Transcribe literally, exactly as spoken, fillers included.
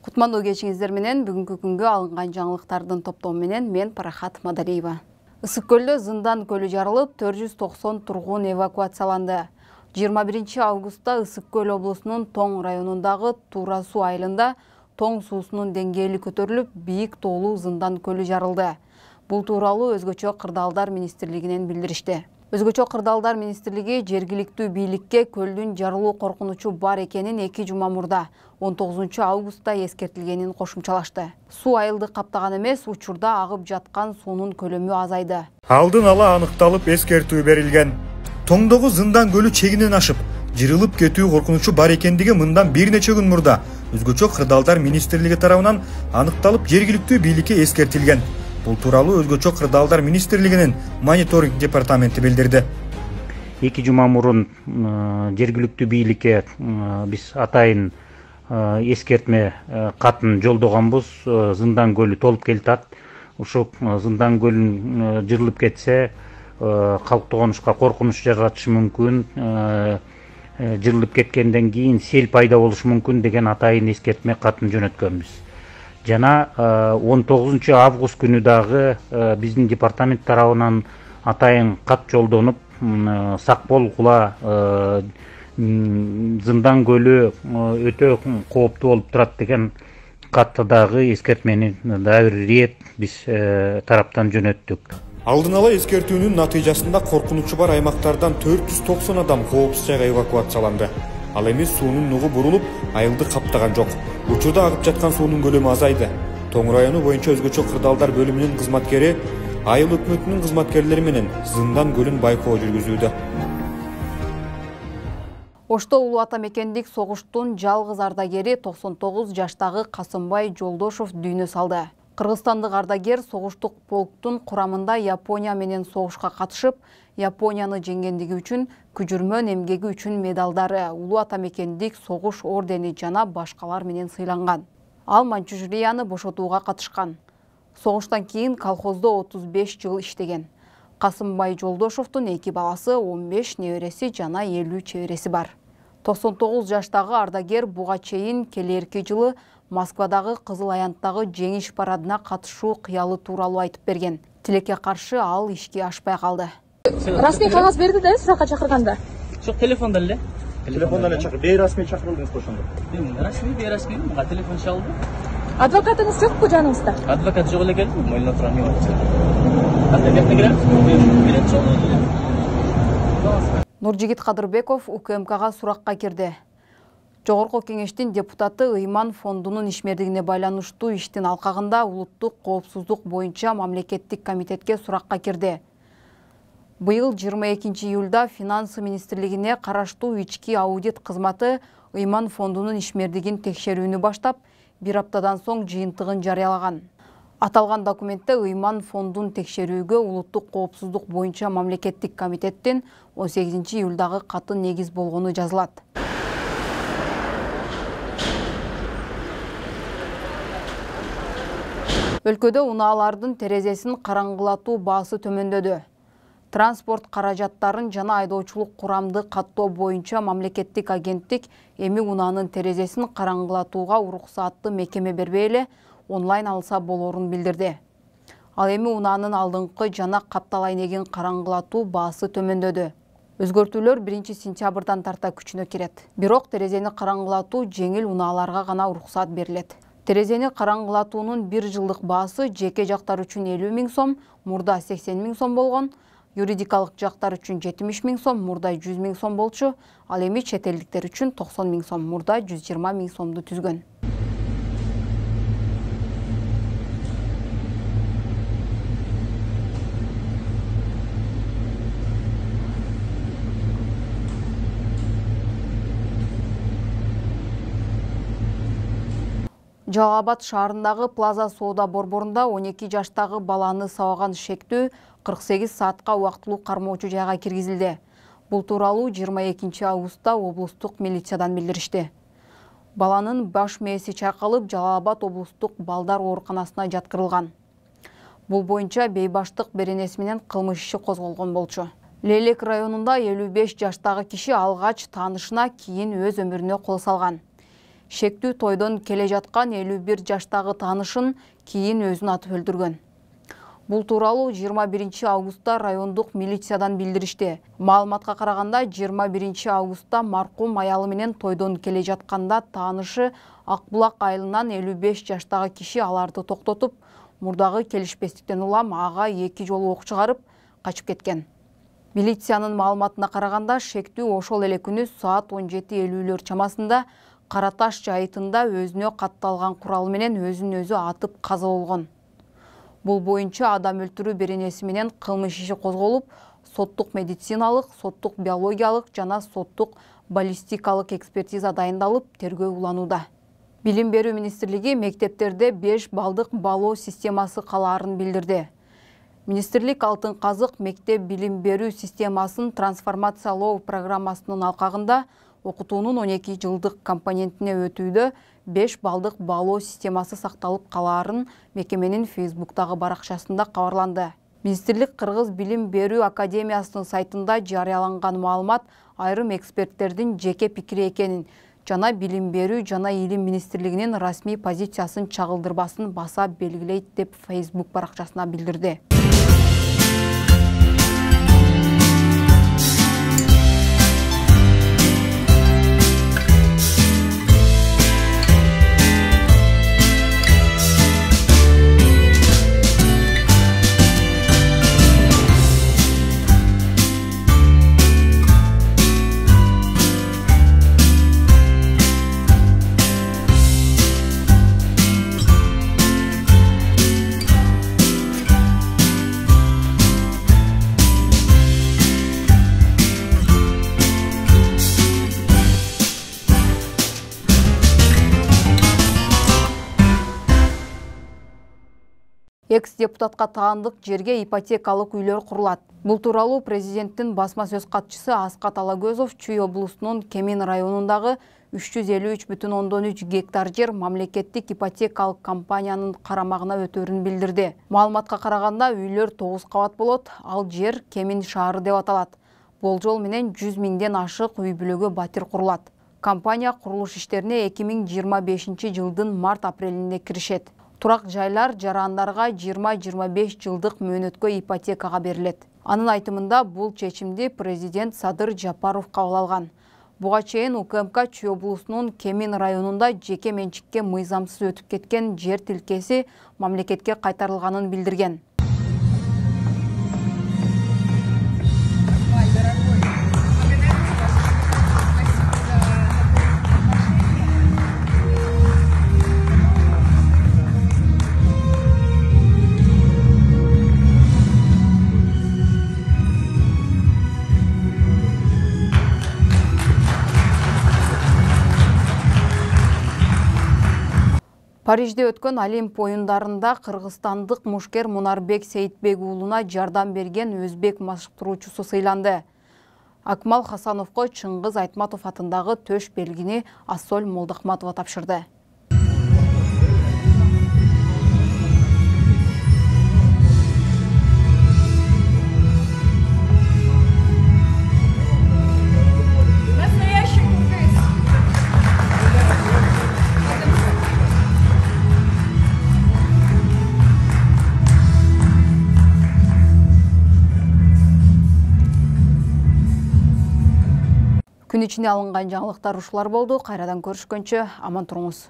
Кутмандуу кечиңиздер менен бүгүнкү күнгө алынган жаңылыктардын топтому менен мен Парахат Мадалиева. Ысык көлдө Зындан көлү жарылып, төрт жүз токсон тургун эвакуацияланды. жыйырма биринчи августта Ысык көл облусунун Тоң районундагы Тура суу айылында Тоң суусунун деңгээли көтөрүлүп, бийик тоолуу Зындан көлү жарылды. Бул тууралуу Өзгөчө кырдаалдар министрлигинен билдиришти. Өзгөчө кырдаалдар министрлиги жергиликтүү бийликке көлдүн жарылуу коркунучу бар экенин эки жума мурда он тогузунчу августта эскертилгенин кошумчалашты. Суу айылды каптаган эмес, учурда агып жаткан суунун көлөмү азайды. Алдын ала аныкталып эскертүү берилген. Тоңдогу Зындан көлү чегинен ашып, жырылып кетүү коркунучу бар экендиги мындан бир нече күн мурда Өзгөчө кырдаалдар министрлиги тарабынан аныкталып жергиликтүү бийликке эскертилген. Бул тууралуу Өзгөчө кырдаалдар министрлигинин мониторинг департаменти билдирди. Эки жума мурун жергиликтүү бийликке биз атайын эскертме катын жолдогонбуз. Зындан көлү толуп келатат. Ушул Зындан көлүн жырылып кетсе, калк тогонушка коркунуч жаратышы мүмкүн. Жырылып кеткенден кийин сел пайда болушу мүмкүн деген атайын эскертме катын жөнөткөнбүз. Жана он тогузунчу август күнү дагы биздин департамент тарабынан атайын кат жолдонуп, сак болгула, Зындан көлү өтө кооптуу болуп турат деген катты дагы эскертмени дагы бир рет биз тараптан жөнөттүк. Алдын ала эскертүүнүн натыйжасында коркунучу бар аймактардан төрт жүз токсон адам коопсуз жайга эвакуацияланды. Ал эми суунун нугу бурулуп, айылды каптаган жок. Учурда агып жаткан суунун көлөмү азайды. Тоң району боюнча Өзгөчө кырдаалдар бөлүмүнүн кызматкери айыл өкмөтүнүн кызматкерлери менен Зындан көлүн байкоо жүргүзүүдө. Ошто улуу ата мекендик согуштун жалгыз ардагери токсон тогуз жаштагы Касымбай Жолдошов дүйнө салды. Кыргызстандык ардагер согуштук полктун курамында Япония менен согушка катышып, Японияны жеңгендиги үчүн, күжүрмөн эмгеги үчүн медалдары, улуу ата мекендик согуш ордени жана башкалар менен сыйланган. Ал Манчжурияны бошотууга катышкан. Согуштан кийин колхоздо отуз беш жыл иштеген. Касымбай Жолдошовдун эки баласы, он беш небереси жана элүү чебереси бар. токсон тогуз жаштагы ардагер буга чейин келерки жылы Москвадагы Кызыл аянттагы жеңиш парадына катышуу кыялы тууралуу айтып берген. Тилекке каршы ал ишке ашпай калды. Расмий кагаз берди да суракка чакырганда? Жок, телефонда эле. Телефонда эле чакыр. Бейрасмий чакырылдыңыз ошондо. Расмий, бейрасмий, мага телефон чалды. Адвокатыңыз жокпу жаныңызда? Адвокат жок эле келди, мойнуна турган мен. Анда кепне киремиз? Билет жолу. Нуржигит Кадырбеков УКМКга суракка кирди. Жогорку кеңештин депутаты Ыйман фондунун ишмердигине байланыштуу иштин алкагында улуттук коопсуздук боюнча мамлекеттик комитетке суракка кирди. Быйыл жыйырма экинчи июлда Финансы министрлигине караштуу ички аудит кызматы Ыйман фондунун ишмердигин текшерүүнү баштап, бир аптадан соң жыйынтыгын жарыялаган. Аталган документте Ыйман фондун текшерүүгө улуттук коопсуздук боюнча мамлекеттик комитеттин он сегизинчи июлдагы каты негиз болгону жазылат. Өлкөдө унаалардын терезесин караңгылатуу баасы төмөндөдү. Транспорт каражаттарын жана айдоочулук курамды каттоо боюнча мамлекеттик агенттик эми унаанын терезесин караңгылатууга уруксаатты мекеме бербей эле онлайн алса болорун билдирди. Ал эми унаанын алдыңкы жана каптал айнегин караңгылатуу баасы төмөндөдү. Өзгөртүүлөр биринчи сентябрдан тарта күчүнө кирет. Бирок терезени караңгылатуу жеңил унааларга гана уруксаат берилет. Терезени караңгылатуунун бир жылдык баасы жеке жактар үчүн элүү миң сом, мурда сексен миң сом болгон, юридикалык жактар үчүн жетимиш миң сом, мурда жүз миң сом болчу, ал эми чет элдиктер үчүн токсон миң сом, мурда жүз жыйырма миң сомду түзгөн. Жалал Абад шаарындагы Плаза соода борборунда он эки жаштагы баланы сабаган шектүү кырк сегиз саатка убактылуу кармоочу жайга киргизилди. Бул тууралуу жыйырма экинчи августта облустук милициядан билдиришти. Баланын баш мээси чайкалып, Жалал Абад облустук балдар ооруканасына жаткырылган. Бул боюнча бейбаштык беренеси менен кылмыш иши козголгон болчу. Лейлек районунда элүү беш жаштагы киши алгач таанышына кийин өз өмүрүнө кол салган. Шектүү тойдон келе жаткан элүү бир жаштагы таанышын кийин өзүн атып өлтүргөн. Бул тууралуу жыйырма биринчи августта райондук милициядан билдиришти. Маалыматка караганда жыйырма биринчи августта маркум аялы менен тойдон келе жатканда таанышы Акбулак айылынан элүү беш жаштагы киши аларды токтотуп, мурдагы келишпестиктен улам ага эки жолу ок чыгарып качып кеткен. Милициянын маалыматына караганда шектүү ошол эле күнү саат он жети элүүлөр чамасында Караташ жайытында өзүнө катталган курал менен өзүн өзү атып каза болгон. Бул боюнча адам өлтүрүү беренеси менен кылмыш иши козголуп, соттук медициналык, соттук биологиялык жана соттук баллистикалык экспертиза дайындалып, тергөө уланууда. Билим берүү министрлиги мектептерде беш балдык балоо системасы калаарын билдирди. Министрлик Алтын казык мектеп билим берүү системасын трансформациялоо программасынын алкагында окутуунун он эки жылдык компонентине өтүүдө беш балдык балоо системасы сакталып калаарын мекеменин Фейсбуктагы баракчасында кабарланды. Министрлик Кыргыз билим берүү академиясынын сайтында жарыяланган маалымат айрым эксперттердин жеке пикири экенин жана билим берүү жана илим министрлигинин расмий позициясын чагылдырбасын баса белгилейт деп Facebook баракчасына билдирди. Экс-депутатка таандык жерге ипотекалык үйлөр курулат. Бул тууралуу президенттин басма сөз катчысы Аскат Алагөзов Чүй облусунун Кемин районундагы үч жүз элүү үч бүтүн ондон үч гектар жер мамлекеттик ипотекалык компаниянын карамагына өтөөрүн билдирди. Маалыматка караганда үйлөр тогуз кабат болот, ал жер Кемин шаары деп аталат. Болжол менен жүз миңден ашык үй бүлөгө батир курулат. Компания курулуш иштерине эки миң жыйырма бешинчи жылдын март-апрелинде киришет. Турак жайлар жарандарга жыйырма жыйырма беш жылдык мөөнөткө ипотекага берилет. Анын айтымында бул чечимди президент Садыр Жапаров кабыл алган. Буга чейин УКМК Чүй облусунун Кемин районунда жеке менчикке мыйзамсыз өтүп кеткен жер тилкеси мамлекетке кайтарылганын билдирген. Парижде өткөн Олимп оюндарында кыргызстандык мушкер Мунарбек Сейитбек уулуна жардам берген өзбек машыктыруучусу сыйланды. Акмал Хасановго Чыңгыз Айтматов атындагы төш белгини Ассоль Молдахматова тапшырды. Күн ичинде алынган жаңылыктар ушулар болду. Кайрадан көрүшкөнчө аман туруңуз.